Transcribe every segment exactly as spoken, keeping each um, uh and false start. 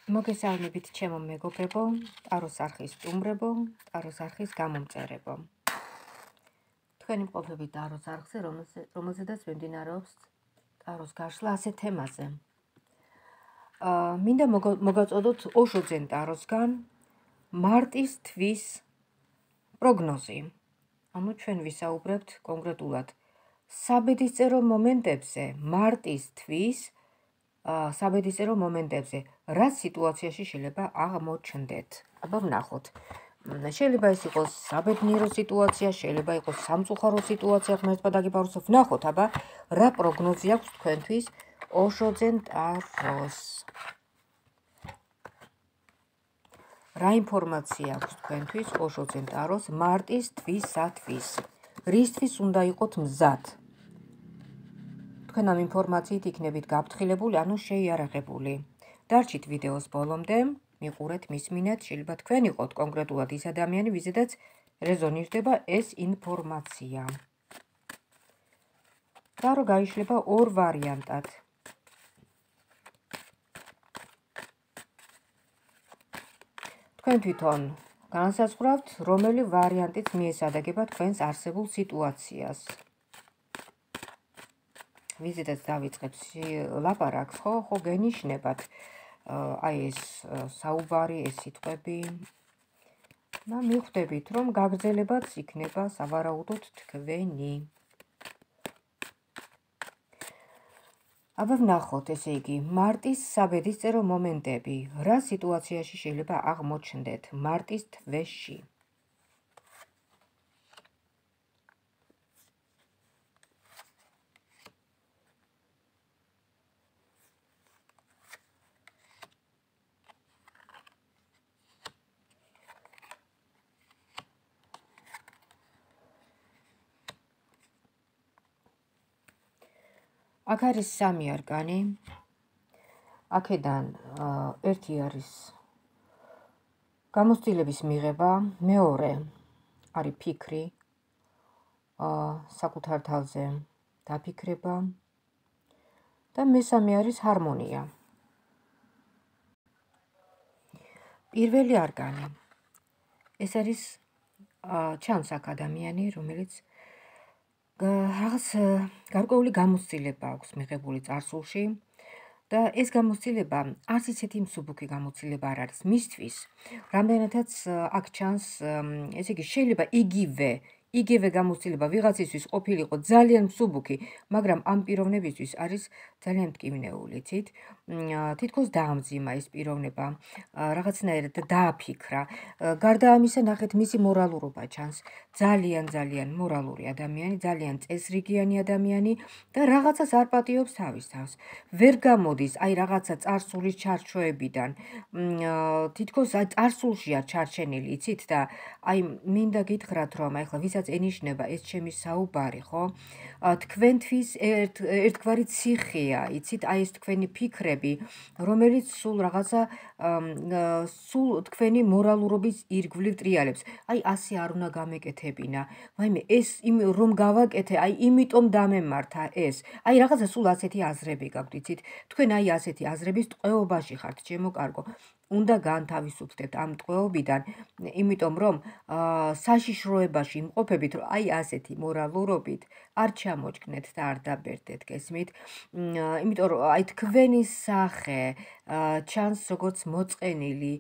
მოგესალმებით ჩემო მეგობრებო, ტაროს არხის სტუმრებო, ტაროს არხის გამომწერებო. თქვენი მყოფებით ტაროს არხზე, რომელზედაც მიმდინარეობს ტაროს გაშლა ასე თემაზე. მინდა მოგაწოდოთ ოშოძენ ტაროსგან მარტის თვის პროგნოზი. ანუ ჩვენ ვისაუბრებთ კონკრეტულად საბედისწერო მომენტებზე, მარტის თვის საბედისწერო მომენტებზე, რა სიტუაციაში შეიძლება აღმოჩნდეთ. აბა ვნახოთ. შეიძლება ეს იყოს საბედნიერო სიტუაცია, შეიძლება იყოს სამწუხარო სიტუაცია, ღმერთმა დაგიპაროსო. ვნახოთ, აბა რა პროგნოზი აქვს თქვენთვის ოშოძენ ტაროს. რა ინფორმაცია აქვს თქვენთვის ოშოძენ ტაროს მარტის თვისათვის? რისთვის უნდა იყოთ მზად? თქვენ ამ ინფორმაციით იქნებით გაფრთხილებული, ანუ შეიარაღებული. დარჩით ვიდეოს ბოლომდე, მიყურეთ, მისმინეთ, შეიძლება თქვენ იყოთ კონკრეტულად ის ადამიანი, ვიზედაც რეზონირდება ეს ინფორმაცია. ტარო გაიშლება ორ ვარიანტად. თქვენ თვითონ განსაზღვრავთ, რომელი ვარიანტიც მიესადაგება თქვენს არსებულ სიტუაციას. ვიზედაც დავიწყებთ ლაპარაკს, ხო, ხო გენიშნებათ აი ეს საუბარი, ეს სიტყვები და მიხვდებით, რომ გაგრძელებაც იქნება სავარაუდოდ თქვენი. აბა ვნახოთ, ესე იგი, მარტის საბედისწერო მომენტები, რა სიტუაციაში შეიძლება აღმოჩნდეთ მარტის თვეში? აქ არის სამი არკანი. აქედან ერთი არის გამოცდილების მიღება, მეორე არის ფიქრი, საკუთარ თავზე დაფიქრება და მესამე არის ჰარმონია. პირველი არკანი. ეს არის ჩანს აქ ადამიანი, რომელიც რაღაც გარკვეული გამოცდილება აქვს მიღებული წარსულში და ეს გამოცდილება არც ისეთი მსუბუქი გამოცდილება არ არის მისთვის, რამდენადაც აქ ჩანს, ესე იგი, შეიძლება იგივე იგივე გამოცდილება ვიღაცისთვის ყოფილიყო ძალიან მსუბუქი, მაგრამ ამ პიროვნებისთვის არის ძალიან მტკივნეული, იცით? თითქოს დაამძიმა ეს პიროვნება, რაღაცნაირად დააფიქრა. გარდა ამისა, ნახეთ, მისი მორალურობა ჩანს. ძალიან ძალიან მორალური ადამიანი, ძალიან წესრიგიანი ადამიანი და რაღაცას არ პატიობს თავის თავს. ვერ გამოდის აი რაღაცა წარსულის ჩარჩოებიდან. თითქოს აი წარსულშია ჩარჩენილი, იცით? და აი მინდა გითხრათ, რომ აი ხლა ვისაც ენიშნება ეს ჩემი საუბარი, ხო? თქვენთვის ერთგვარი ციხეა, იცით? აი ეს თქვენი ფიქრები, რომელიც სულ რაღაცა სულ თქვენი მორალურობის ირგვლივ ტრიალებს. აი ასე არ უნდა გამეკეთებინა. ვაიმე, ეს რომ გავაკეთე, აი იმიტომ დამემართა ეს. აი რაღაცა სულ ასეთი აზრები გაქვთ, იცით? თქვენ აი ასეთი აზრების ტყვეობაში ხართ, ჩემო კარგო. უნდა განთავისუფლდეთ ამ ტყვეობიდან, იმიტომ რომ საშიშროებაში იმყოფებით, რომ აი ასეთი მორალურობით არ ჩამოჭკნეთ და არ დაბერდეთ, გესმით? იმიტომ რომ აი თქვენი სახე ჩანს როგორც მოწყენილი,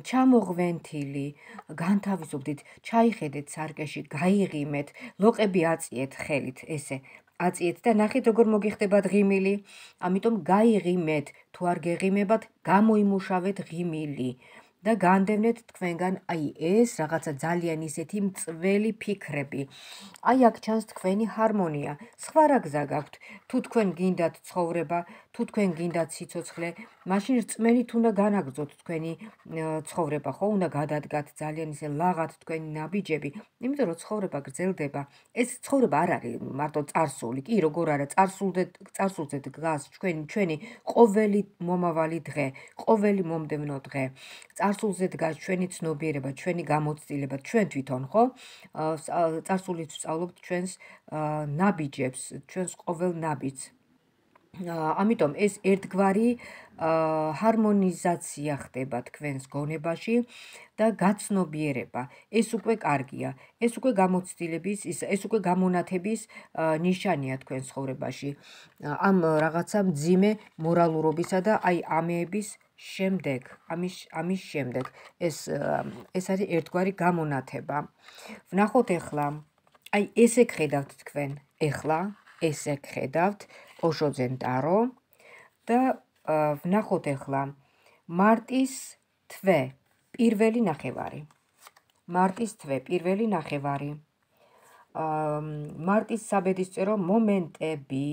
ჩამოღვენთილი, განთავისუფლდით, ჩაიხედეთ სარკეში, გაიღიმეთ, ლოყები აწიეთ ხელით, ესე აწიეთ და ნახეთ როგორ მოგიხდებათ ღიმილი. ამიტომ გაიღიმეთ, თუ არ გეღიმებათ, გამოიმუშავეთ ღიმილი და განდევნეთ თქვენგან აი ეს რაღაცა ძალიან ისეთი მწველი ფიქრები. აი აქ ჩანს თქვენი ჰარმონია. სხვა რა გზა გაქვთ? თუ თქვენ გინდათ ცხოვრება, თუ თქვენ გინდათ სიცოცხლე, მაშინ რწმენით უნდა განაგრძოთ თქვენი ცხოვრება, ხო? უნდა გადადგათ ძალიან ისე ლაღად თქვენი ნაბიჯები, იმიტომ რომ ცხოვრება გრძელდება. ეს ცხოვრება არ არის მარტო წარსული, კი, როგორ არა, წარსულზე წარსულზე დგას ჩვენი ჩვენი ყოველი მომავალი დღე, ყოველი მომდევნო დღე. წარსულზე დგას ჩვენი ცნობიერება, ჩვენი გამოცდილება, ჩვენ თვითონ, ხო? წარსულით ვსწავლობთ ჩვენს ნაბიჯებს, ჩვენს ყოველ ნაბიჯს. ამიტომ ეს ერთგვარი ჰარმონიზაცია ხდება თქვენს გონებაში და გაცნობიერება. ეს უკვე კარგია. ეს უკვე გამოცდილების, ეს უკვე გამონათების ნიშანია თქვენ ცხოვრებაში. ამ რაღაცა მძიმე მორალურობისა და აი ამეების შემდეგ, ამის ამის შემდეგ ეს ეს არის ერთგვარი გამონათება. ვნახოთ ახლა, აი ესე გხედავთ თქვენ ახლა, ესე გხედავთ ოშოძენ ტარო და ვნახოთ ახლა მარტის თვე, პირველი ნახევარი. მარტის თვე, პირველი ნახევარი. მარტის საბედისწერო მომენტები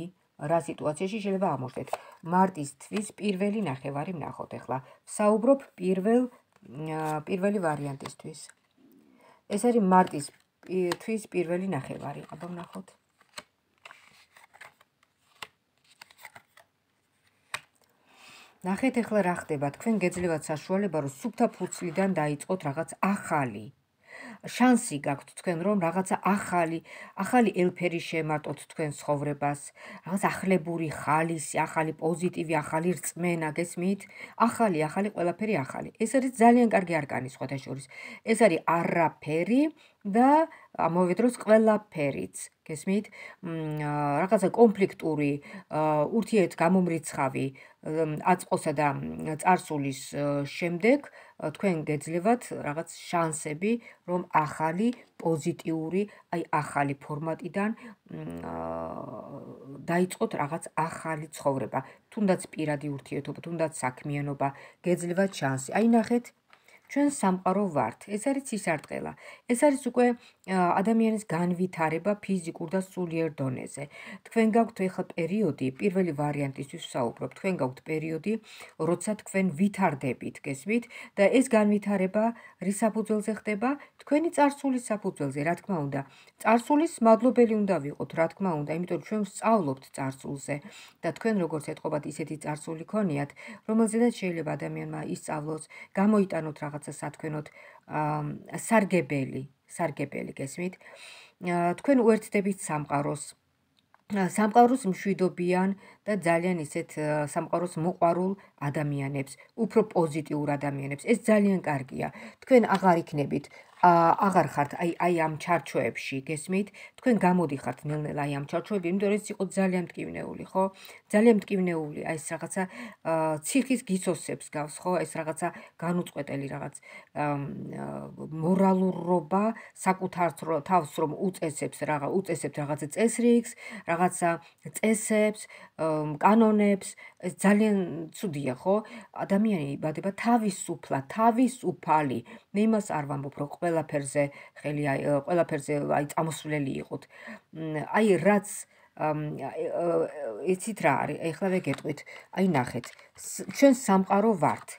რა სიტუაციაში შეიძლება აღმოჩნდეთ. მარტის თვის პირველი ნახევარი ვნახოთ ახლა. ვსაუბრობ პირველ პირველი ვარიანტისთვის. ეს არის მარტის თვის პირველი ნახევარი. აბა ვნახოთ. ნახეთ ახლა რა ხდება, თქვენ გეძლევათ საშუალება, რომ სუფთა ფურცლიდან დაიწყოთ რაღაც ახალი. შანსი გაქვთ თქვენ, რომ რაღაცა ახალი, ახალი ელფერი შემარტოთ თქვენ ცხოვრებას, რაღაც ახლებური ხალისი, ახალი პოზიტივი, ახალი რწმენა, გესმით? ახალი, ახალი, ყველაფერი ახალი. ეს არის ძალიან კარგი არკანი სხვათა შორის. ეს არის არაფერი და ამავე დროს ყველაფერიც. გესმით? რაღაცა კონფლიქტური, ურთიერთ გამომრიცხავი აწყოსა და წარსულის შემდეგ თქვენ გეძლევათ რაღაც შანსები, რომ ახალი პოზიტიური, აი ახალი ფორმატიდან დაიწყოთ რაღაც ახალი ცხოვრება. თუნდაც პირადი ურთიერთობა, თუნდაც საქმიანობა, გეძლევათ შანსი. აი ნახეთ, ჩვენ სამყარო ვართ. ეს არის ცისარტყელა. ეს არის უკვე ადამიანის განვითარება ფიზიკურ და სულიერ დონეზე. თქვენ გაქვთ ახლა პერიოდი, პირველი ვარიანტისთვის ვსაუბრობ, თქვენ გაქვთ პერიოდი, როცა თქვენ ვითარდებით, გესმით? და ეს განვითარება რის საფუძველზე ხდება? თქვენი წარსულის საფუძველზე, რა თქმა უნდა. წარსულის მადლობელი უნდა ვიყოთ, რა თქმა უნდა, იმიტომ რომ ჩვენ ვსწავლობთ წარსულზე და თქვენ როგორც ეთყობათ, ისეთი წარსული ქონიათ, რომელზედაც შეიძლება ადამიანმა ისწავლოს, გამოიტანოთ რაღაცა სათქვენოდ სარგებელი, სარგებელი, გესმით? თქვენ უერთდებით სამყაროს. სამყაროს მშვიდობიან და ძალიან ისეთ სამყაროს მოყვარულ ადამიანებს, უფრო პოზიტიურ ადამიანებს. ეს ძალიან კარგია. თქვენ აღარ იქნებით აღარ ხართ აი აი ამ ჩარჩოებში, გესმით? თქვენ გამოდიხართ ნელ-ნელა აი ამ ჩარჩოებში, იმიტომ რომ ეს იყო ძალიან მტკივნეული, ხო? ძალიან მტკივნეული, აი ეს რაღაცა ციხის გიცოსებს გავს, ხო? ეს რაღაცა განუწყვეტელი რაღაც მორალურობა საკუთარ თავს რომ უწესებს რაღა უწესებს რაღაცა წესრიგს, რაღაცა წესებს, კანონებს, ეს ძალიან ცუდია, ხო? ადამიანი იბადება თავისუფლად, თავისუფალი. მე იმას არ ვამბობ, რომ ყველაფერზე ხელი ყველაფერზე აი წამოსვლელი იყოთ. აი რაც იცით რა არის? ეხლა ვეგეტყვით. აი ნახეთ, ჩვენ სამყარო ვართ.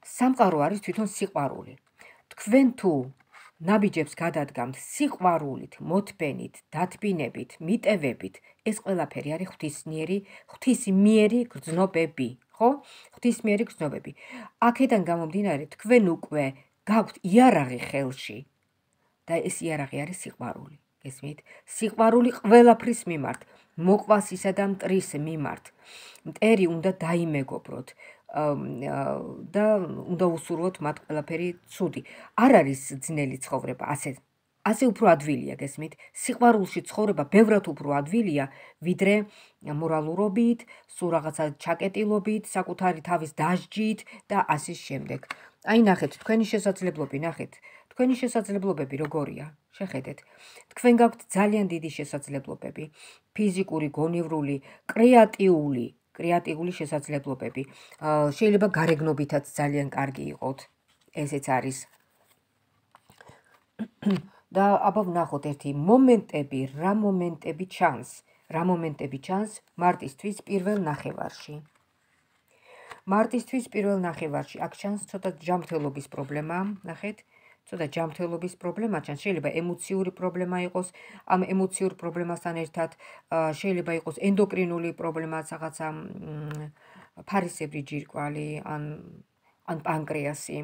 სამყარო არის თვითონ სიყვარული. თქვენ თუ ნაბიჯებს გადადგამთ სიყვარულით, მოთბენით, დათბინებით, მიტევებით, ეს ყველაფერი არის ღვთისმიერი, ღვთისმიერი გრძნობები, ხო? ღვთისმიერი გრძნობები. აქედან გამომდინარე, თქვენ უკვე გაქვთ იარაღი ხელში და ეს იარაღი არის სიყვარული, გესმით? სიყვარული ყველაფრის მიმართ, მოყვასისა და მტრის მიმართ. მტერი უნდა დაიმეგობროთ და უნდა უსურვოთ მათ ყველაფერი ცუდი. არ არის ძნელი ცხოვრება, ასე ასე უფრო ადვილია, გესმით? სიყვარულში ცხოვრება ბევრად უფრო ადვილია, ვიდრე მორალურობით, სულ რაღაცა ჩაკეტილობით, საკუთარი თავის დასჯით და ასე შემდეგ. აი ნახეთ, თქვენი შესაძლებლობები, ნახეთ. თქვენი შესაძლებლობები როგორია? შეხედეთ. თქვენ გაქვთ ძალიან დიდი შესაძლებლობები, ფიზიკური, გონივრული, კრეატიული კრეატიული შესაძლებლობები. შეიძლება გარეგნობითაც ძალიან კარგი იყოთ. ესეც არის. და აბა ვნახოთ ერთი მომენტები, რა მომენტები ჩანს, რა მომენტები ჩანს მარტის თვის პირველ ნახევარში. მარტის თვის პირველ ნახევარში აქ ჩანს ცოტა ჯანმრთელობის პრობლემა, ნახეთ. ცოტა ჯანმრთელობის პრობლემა ჩანს, შეიძლება ემოციური პრობლემა იყოს, ამ ემოციურ პრობლემასთან ერთად შეიძლება იყოს ენდოკრინული პრობლემაც, რაღაცა ფარისებრი ჯირკვალი, ან ან პანკრეასი,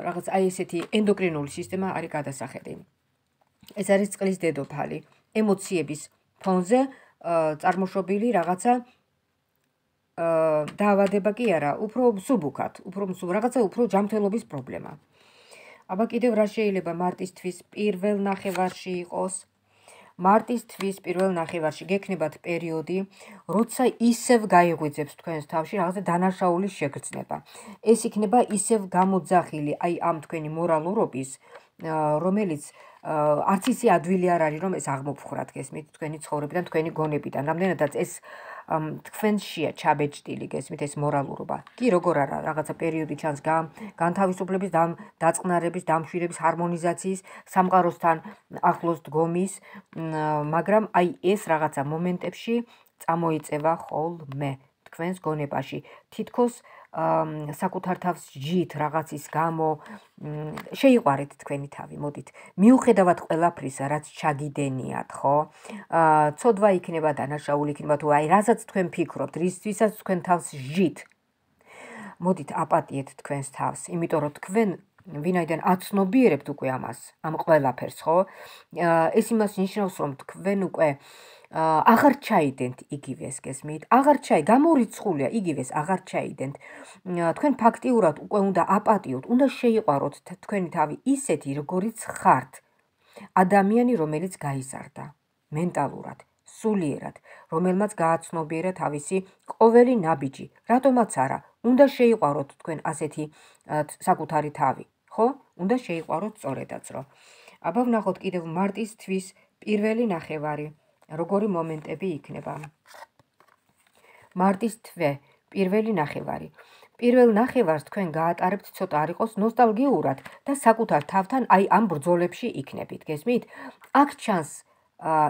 რაღაც აი ესეთი ენდოკრინული სისტემა არის გადასახედი. ეს არის წყლის დედოფალი, ემოციების ფონზე წარმოშობილი რაღაცა დაავადება კი არა, უფრო მსუბუქად, უფრო მსუბუქ, რაღაცა უფრო ჯანმრთელობის პრობლემა. აბა კიდევ რა შეიძლება მარტის თვის პირველ ნახევარში იყოს? მარტის თვის პირველ ნახევარში გექნებათ პერიოდი, როცა ისევ გაიღვიძებს თქვენს თავში რაღაცა დანაშაულის შეგრძნება. ეს იქნება ისევ გამოძახილი აი ამ თქვენი მორალურობის, რომელიც არც ისე ადვილი არ არის, რომ ეს აღმოფხვრათ, გესმით, თქვენი ცხოვრებიდან, თქვენი გონებიდან. რამდენადაც ეს თქვენშია ჩაბეჭდილი, გესმით, ეს მორალურობა. კი, როგორ არა, რაღაცა პერიოდი ჩანს განთავისუფლების, დაწყნარების, დამშვიდების, ჰარმონიზაციის, სამყაროსთან ახლოს დგომის, მაგრამ აი ეს რაღაცა მომენტებში წამოიწევა ხოლმე თქვენს გონებაში. თითქოს საკუთარ თავს ჯით რაღაცის გამო შეიყვარეთ თქვენი თავი, მოდით. მიუხედავად ყველაფრისა, რაც ჩაგიდენიათ, ხო? ცოდვა იქნება, დანაშაული იქნება, თუ აი რასაც თქვენ ფიქრობთ, რისთვისაც თქვენ თავს ჯით. მოდით აპატიეთ თქვენს თავს, იმიტომ რომ თქვენ ვინაიდან აცნობიერებთ უკვე ამას, ამ ყველაფერს, ხო? ეს იმას ნიშნავს, რომ თქვენ უკვე აღარ ჩაიდენთ იგივეს, გესმით? აღარ ჩაი, გამორიცხულია იგივეს, აღარ ჩაიდენთ. თქვენ ფაქტიურად უკვე უნდა აპატიოთ, უნდა შეიყვაროთ თქვენი თავი ისეთი, როგორიც ხართ. ადამიანი, რომელიც გაიზარდა მენტალურად, სულიერად, რომელმაც გააცნობიერა თავისი ყოველი ნაბიჯი. რატომაც არა, უნდა შეიყვაროთ თქვენ ასეთი საკუთარი თავი, ხო? უნდა შეიყვაროთ სწორედაც, რომ. აბა ვნახოთ კიდევ მარტის თვის პირველი ნახევარი. როგორი მომენტები იქნება. მარტის თვე, პირველი ნახევარი. პირველ ნახევარს თქვენ გაატარებთ ცოტა არ იყოს ნოსტალგიურად და საკუთარ თავთან აი ამ ბრძოლებში იქნებით, გესმით? აქ ჩანს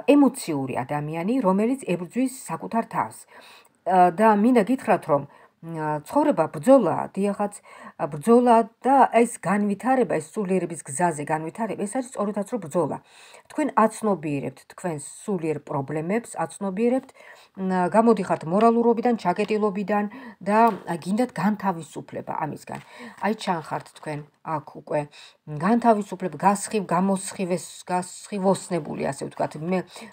ემოციური ადამიანი, რომელიც ებრძვის საკუთარ თავს. და მინდა გითხრათ, რომ ცხოვრება ბრძოლაა, დიახაც, ბრძოლა და ეს განვითარება, ეს სულიერების გზაზე განვითარება, ეს არის სწორედაც რომ ბრძოლა. თქვენ აცნობიერებთ თქვენს სულიერ პრობლემებს, აცნობიერებთ, გამოდიხართ მორალურობიდან, ჩაკეტილობიდან და გინდათ განთავისუფლება ამისგან. აი ჩანხართ თქვენ აქ უკვე განთავისუფლება, გასხივ, გამოსხივეს, გასხივოსნებული, ასე ვთქვათ,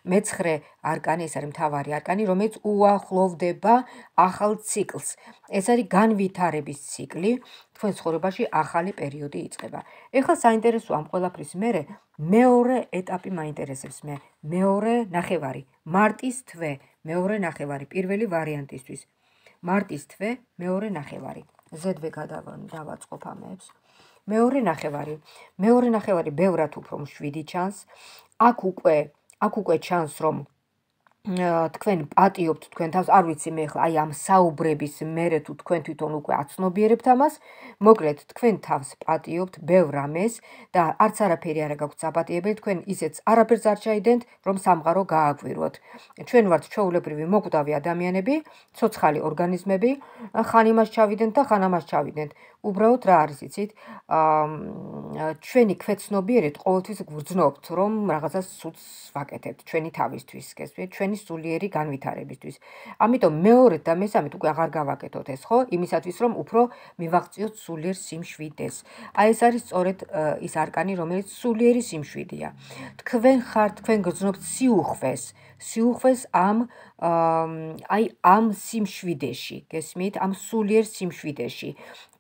მეცხრე არკანი, ეს არის მთავარი არკანი, რომელიც უახლოვდება ახალ ციკლს. ეს არის განვითარების ციკლი, თქვენ ცხოვრებაში ახალი პერიოდი იწყება. ეხლა საინტერესო ამ ყველაფრის მერე მეორე ეტაპი მაინტერესებს მე, მეორე ნახევარი, მარტის თვე, მეორე ნახევარი, პირველი ვარიანტისთვის. მარტის თვე, მეორე ნახევარი. ზედვე გადავაწყობ ამებს. მეორე ნახევარი. მეორე ნახევარი ბევრად უფრო მშვიდი ჩანს. აქ უკვე, აქ უკვე ჩანს, რომ თქვენ პატიობთ თქვენ თავს, არ ვიცი მე ახლა აი ამ საუბრების მერე თუ თქვენ თვითონ უკვე აცნობიერებთ ამას, მოკლედ თქვენ თავს პატიობთ ბევრ რამეს და არც არაფერი არ გაქვთ საპატიებელი, თქვენ ისეც არაფერს არ ჩაიდენთ, რომ სამყარო გააგვიროთ. ჩვენ ვართ ჩვეულებრივი მოკვდავი ადამიანები, ცოცხალი ორგანიზმები, ხან იმას ჩავიდენთ და ხან ამას ჩავიდენთ. უბრალოდ რა არის იცით? ჩვენი ქვეცნობიერით ყოველთვის გვგრძნობთ, რომ რაღაცას სულს ვაკეთებთ ჩვენი თავისთვის, გესმით? ჩვენი სულიერი განვითარებისთვის. ამიტომ მეორედ და მესამედ უკვე აღარ გავაკეთოთ ეს, ხო? იმისათვის რომ უფრო მივაღწიოთ სულიერ სიმშვიდეს. აი ეს არის სწორედ ის არკანი, რომელიც სულიერი სიმშვიდეა. თქვენ ხართ, თქვენ გრძნობთ სიუხვეს, სიუხვეს ამ აი ამ სიმშვიდეში, გესმით? ამ სულიერ სიმშვიდეში.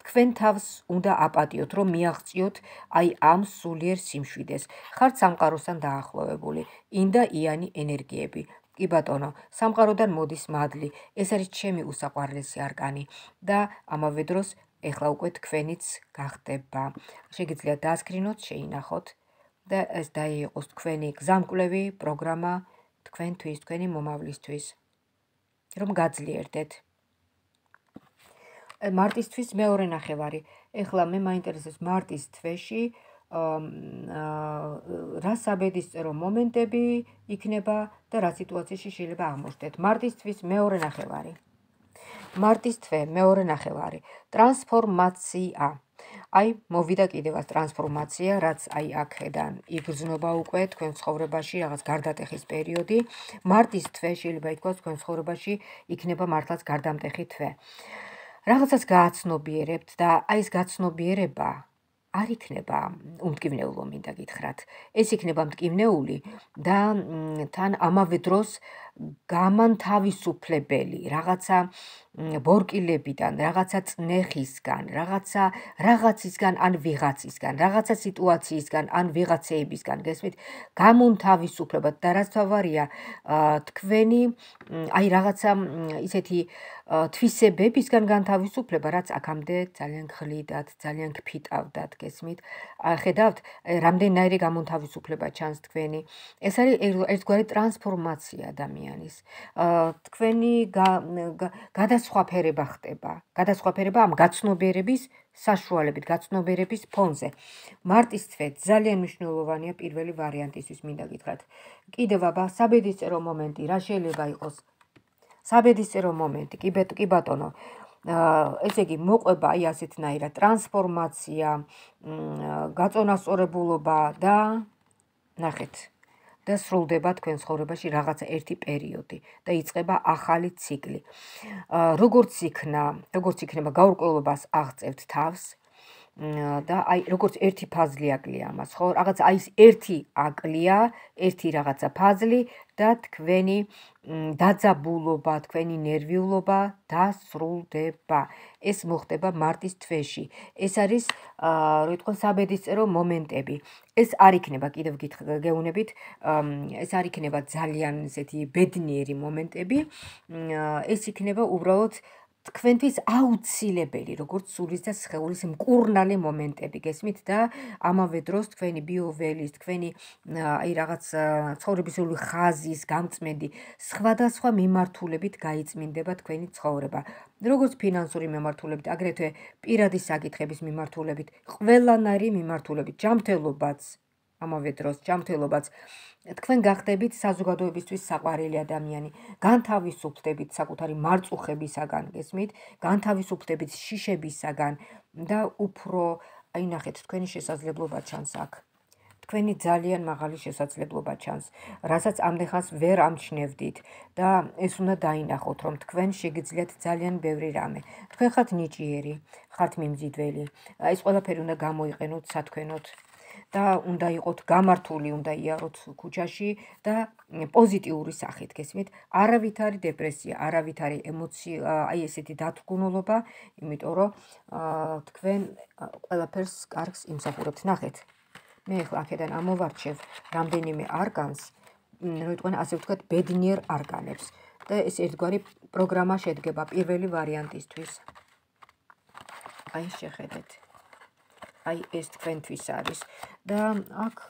თქვენ თავს უნდა აპატიოთ, რომ მიაღწიოთ აი ამ სულიერ სიმშვიდეს. ხართ სამყაროსთან დაახლოვებული, ინდა იანი ენერგიები. კი ბატონო, სამყაროდან მოდის მადლი. ეს არის ჩემი უსაყვარლესი არკანი და ამავე დროს ეხლა უკვე თქვენიც გახდება. შეგიძლიათ დაასკრინოთ, შეინახოთ და ეს დაიყოს თქვენი გზამკვლევი პროგრამა თქვენთვის, თქვენი მომავლისთვის, რომ გაძლიერდეთ. მარტის თვის მეორე ნახევარი. ეხლა მე მაინტერესებს მარტის თვეში რა საბედისწერო მომენტები იქნება და რა სიტუაციაში შეიძლება აღმოჩნდეთ. მარტის თვის მეორე ნახევარი. მარტის თვე, მეორე ნახევარი. ტრანსფორმაცია. აი, მოვიდა კიდევაც ტრანსფორმაცია, რაც აი აქედან იგრძნობა უკვე თქვენ ცხოვრებაში, რაღაც გარდატეხის პერიოდი. მარტის თვე შეიძლება ითქვას თქვენ ცხოვრებაში იქნება მართლაც გარდამტეხი თვე. რაღაცას გააცნობიერებთ და აი ეს გაცნობიერება არ იქნება უმტკივნეულო, მინდა გითხრათ. ეს იქნება მტკივნეული და თან ამავე დროს გამანთავისუფლებელი, რაღაცა ბორკილებიდან, რაღაცა წნეხისგან, რაღაცა რაღაცისგან ან ვიღაცისგან, რაღაცა სიტუაციისგან ან ვიღაცეებისგან, გესმით, გამონთავისუფლება და რაც თავარია, თქვენი აი რაღაცა ისეთი თვისებებისგან განთავისუფლება, რაც აქამდე ძალიან გხლიდათ, ძალიან გფიტავდათ, გესმით? ხედავთ, რამდენიერი გამონთავისუფლება ჩანს თქვენი. ეს არის ერთგვარი ტრანსფორმაცია ადამიანის. თქვენი გადასხვაფერება ხდება. გადასხვაფერება ამ გაცნობიერების საშუალებით, გაცნობიერების ფონზე. მარტის თვე ძალიან მნიშვნელოვანია პირველი ვარიანტისთვის, მინდა გითხრათ. კიდევ აბა საბედისწერო მომენტი, რა შეიძლება იყოს? საბედისწერო მომენტი, კი ბატონო. ესე იგი მოყვება აი ასეთნაირად ტრანსფორმაცია, გაწონასწორებულობა და ნახეთ და სრულდება თქვენ ცხოვრებაში რაღაცა ერთი პერიოდი და იწყება ახალი ციკლი. როგორც იქნა, როგორც იქნება გაურკვევლობას აღწევთ თავს და აი როგორც ერთი ფაზლი აკლია ამას, ხო? რაღაც აი ეს ერთი აკლია, ერთი რაღაცა ფაზლი და თქვენი დაძაბულობა, თქვენი ნერვიულობა დასრულდება. ეს მოხდება მარტის თვეში. ეს არის, რო იტყვი, საბედისწერო მომენტები. ეს არ იქნება, კიდევ გეუბნებით, ეს არ იქნება ძალიან ესეთი ბედნიერი მომენტები. ეს იქნება უბრალოდ თქვენთვის აუცილებელი, როგორც სულის და სხეულის მკურნალი მომენტები, გესმით და ამავე დროს თქვენი ბიოველის, თქვენი აი რაღაც ცხოვრებისეული ხაზის გამწმენდი სხვადასხვა მიმართულებით გაიწმინდება თქვენი ცხოვრება. როგორც ფინანსური მიმართულებით, აგრეთვე პირადი საკითხების მიმართულებით, ყველანაირი მიმართულებით, ჯანმრთელობაც, ამავე დროს ჯანმრთელობაც. თქვენ გახდებით საზოგადოებისთვის საყვარელი ადამიანი, განთავისუფლდებით საკუთარი მარწუხებისაგან, გესმით, განთავისუფლდებით შიშებისაგან და უფრო, აი ნახეთ, თქვენი შესაძლებლობა ჩანს აქ. თქვენი ძალიან მაღალი შესაძლებლობა ჩანს, რასაც ამდენხანს ვერ ამჩნევდით და ეს უნდა დაინახოთ, რომ თქვენ შეგიძლიათ ძალიან ბევრი რამე. თქვენ ხართ ნიჭიერი, ხართ მიმზიდველი. ეს ყველაფერი უნდა გამოიყენოთ სათქვენოდ. და უნდა იყოთ გამართული, უნდა იაროთ ქუჩაში და პოზიტიური სახით, გესმით? არავითარი დეპრესია, არავითარი ემოცია, აი ესეთი დათრგუნულობა, იმიტომ რომ თქვენ ყველაფერს კარგს იმსახურებთ. ნახეთ. მე ახლა აქედან ამოვარჩევ რამდენიმე არგანს, რო იტყვიან, ასე ვთქვათ, ბედნიერ არგანებს. და ეს ერთგვარი პროგრამა შედგება პირველი ვარიანტისთვის. აი შეხედეთ. აი ეს თქვენთვის არის და აქ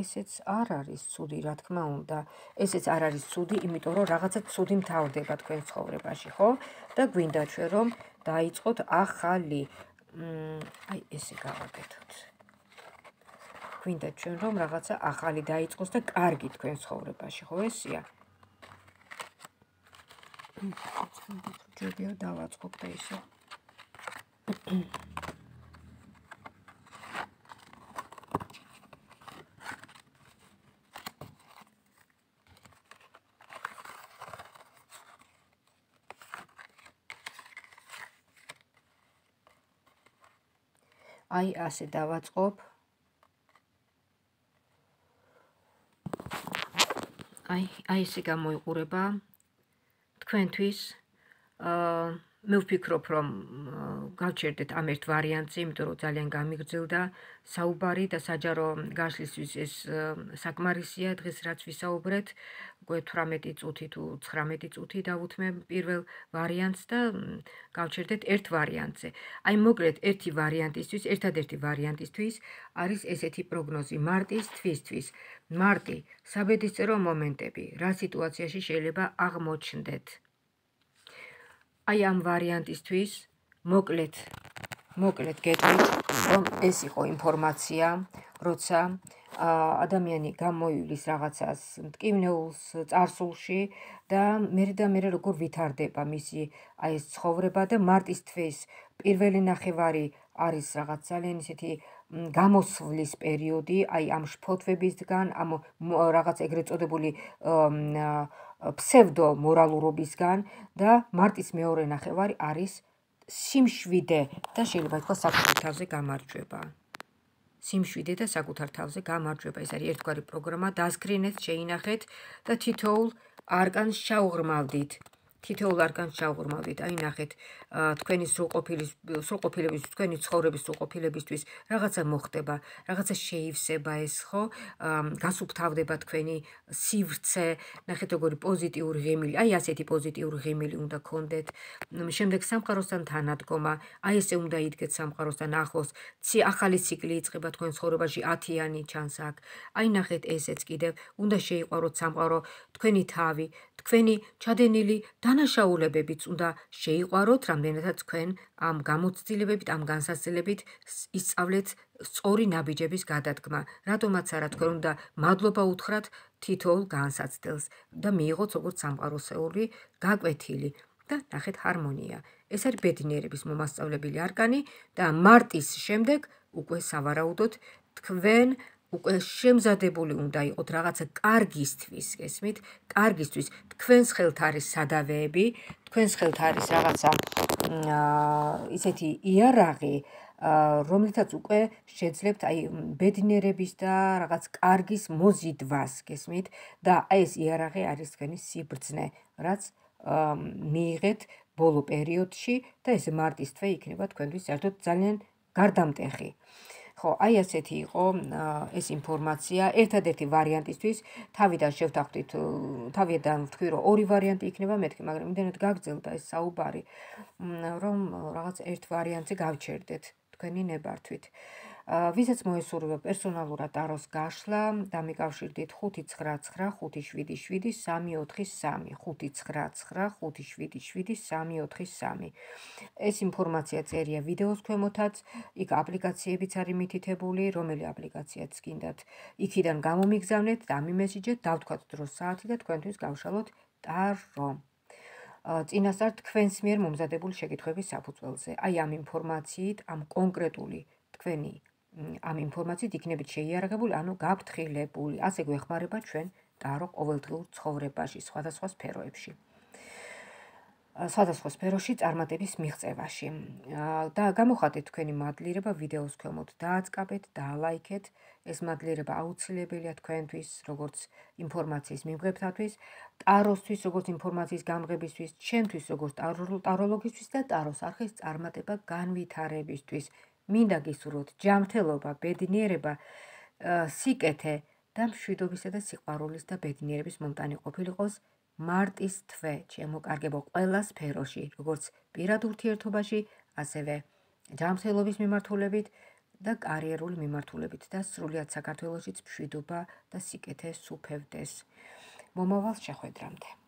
ესეც არ არის ცუდი, რა თქმა უნდა. ესეც არ არის ცუდი, იმიტომ რომ რაღაცა ცუდი მთავრდება თქვენ ცხოვრებაში, ხო? და გვინდა ჩვენ რომ დაიწყოთ ახალი. აი ესე გავაკეთოთ. გვინდა ჩვენ რომ რაღაცა ახალი დაიწყოს და კარგი თქვენ ცხოვრებაში, ხო ესია? ჯობია დავაწყობ და ისე. აი ასე დავაწყობ. აი აი ესე გამოიყურება თქვენთვის. აა მე ვფიქრობ, რომ გავჩერდეთ ამ ერთ ვარიანტზე, იმიტომ რომ ძალიან გამიგრძელდა საუბარი და საჯარო გაშლისთვის ეს საკმარისია დღეს რაც ვისაუბრეთ. უკვე თვრამეტი წუთი თუ ცხრამეტი წუთი დავუთმე პირველ ვარიანტს და გავჩერდეთ ერთ ვარიანტზე. აი მოკლედ ერთი ვარიანტისთვის, ერთადერთი ვარიანტისთვის არის ესეთი პროგნოზი მარტის თვისთვის. მარტი, საბედისწერო მომენტები, რა სიტუაციაში შეიძლება აღმოჩნდეთ. აი ამ ვარიანტისთვის მოკლედ მოკლედ გეტყვით, რომ ეს იყო ინფორმაცია, როცა ადამიანი გამოივლის რაღაცას მტკივნეულს წარსულში და მერე და მერე როგორ ვითარდება მისი აი ეს ცხოვრება და მარტის თვის პირველი ნახევარი არის რაღაც ძალიან ისეთი გამოსვლის პერიოდი, აი ამ შფოთვებისგან, ამ რაღაც ეგრეთ წოდებული ფსევდო მორალურობისგან და მარტის მეორე ნახევარი არის სიმშვიდე და შეიძლება ითქვას საკუთარ თავზე გამარჯვება. სიმშვიდე და საკუთარ თავზე გამარჯვება. ეს არის ერთგვარი პროგრამა, დასკრინეთ, შეინახეთ და თითოეულ არკანს ჩაუღრმავდით. თითოეულ არკანს ჩაუღრმავდით. აი ნახეთ, თქვენი სრულყოფილის სრულყოფილების, თქვენი ცხოვრების სრულყოფილებისთვის რაღაცა მოხდება, რაღაცა შეივსება ეს, ხო? გასუფთავდება თქვენი სივრცე, ნახეთ როგორი პოზიტიური ღიმილი, აი ასეთი პოზიტიური ღიმილი უნდა გქონდეთ. შემდეგ სამყაროსთან თანადგომა, აი ესე უნდა იდგეთ სამყაროსთან ახლოს, ახალი ციკლი იწყება თქვენ ცხოვრებაში, ათიანი ჩანს აქ. აი ნახეთ ესეც კიდევ, უნდა შეიყვაროთ სამყარო, თქვენი თავი, თქვენი ჩადენილი დანაშაულებებიც უნდა შეიყვაროთ, რამდენადაც თქვენ ამ გამოცდილებებით, ამ განსაცდელებით ისწავლეთ სწორი ნაბიჯების გადადგმა. რატომაც არა თქვენ უნდა მადლობა უთხრათ თითოეულ განსაცდელს და მიიღოთ როგორც სამყაროსეული გაკვეთილი და ნახეთ ჰარმონია. ეს არის ბედნიერების მომასწავლებელი არკანი და მარტის შემდეგ უკვე სავარაუდოდ თქვენ უკვე შემზადებული უნდა იყოთ რაღაცა კარგისთვის, გესმით? კარგისთვის, თქვენს ხელთ არის სადავეები, თქვენს ხელთ არის რაღაცა ისეთი იარაღი, რომლითაც უკვე შეძლებთ აი ბედნიერების და რაღაც კარგის მოზიდვას, გესმით? და აი ეს იარაღი არის თქვენი სიბრძნე, რაც მიიღეთ ბოლო პერიოდში და ეს მარტის თვე იქნება თქვენთვის საერთოდ ძალიან გარდამტეხი. ხო, აი ასეთი იყო ეს ინფორმაცია. ერთადერთი ვარიანტისთვის თავიდან შევთანხმდით, თავიდან ვთქვი, რომ ორი ვარიანტი იქნება მეთქი, მაგრამ იმდენად გაგრძელდა ეს საუბარი, რომ რაღაც ერთ ვარიანტზე გავჩერდეთ თქვენი ნებართვით. ვისაც მოესურვება პერსონალურად ტაროს გაშლა, დამიკავშირდით ხუთი ცხრა ცხრა ხუთი შვიდი შვიდი სამი ოთხი სამი, ხუთი ცხრა ცხრა ხუთი შვიდი შვიდი სამი ოთხი სამი. ეს ინფორმაცია წერია ვიდეოს ქვემოთაც, იქ აპლიკაციებიც არის მითითებული, რომელი აპლიკაციაც გინდათ, იქიდან გამომიგზავნეთ და ამიმესიჯეთ, დავთქვათ დროს საათი და თქვენთვის გავშალოთ ტარო. წინასწარ თქვენს მიერ მომზადებული შეკითხვების საფუძველზე. აი ამ ინფორმაციით, ამ კონკრეტული თქვენი ამ ინფორმაციით იქნებით შეიარაღებული, ანუ გაფრთხილებული. ასე გვეხმარება ჩვენ ტარო ყოველდღიურ ცხოვრებაში, სხვადასხვა სფეროებში. სხვადასხვა სფეროში წარმატების მიღწევაში. და გამოხატეთ თქვენი მადლიერება ვიდეოს ქვემოთ, დააწყაბეთ, დაალაიქეთ. ეს მადლიერება აუცილებელია თქვენთვის, როგორც ინფორმაციის მიმღებთათვის, ტაროსთვის, როგორც ინფორმაციის გამღებისთვის, ჩემთვის, როგორც ტაროლოგისთვის და ტაროს არხის წარმატება განვითარებისთვის. მინდა გისურვოთ ჯანმრთელობა, ბედნიერება, სიკეთე და მშვიდობისა და სიყვარულის და ბედნიერების მომტანი ყოფილიყოს მარტის თვე, შემოკარგებო ყველა სფეროში, როგორც პირად ურთიერთობაში, ასევე ჯანმრთელობის მიმართულებით და კარიერული მიმართულებით და სრულიად საქართველოშიც მშვიდობა და სიკეთე სუფევდეს. მომავალ შეხვედრამდე.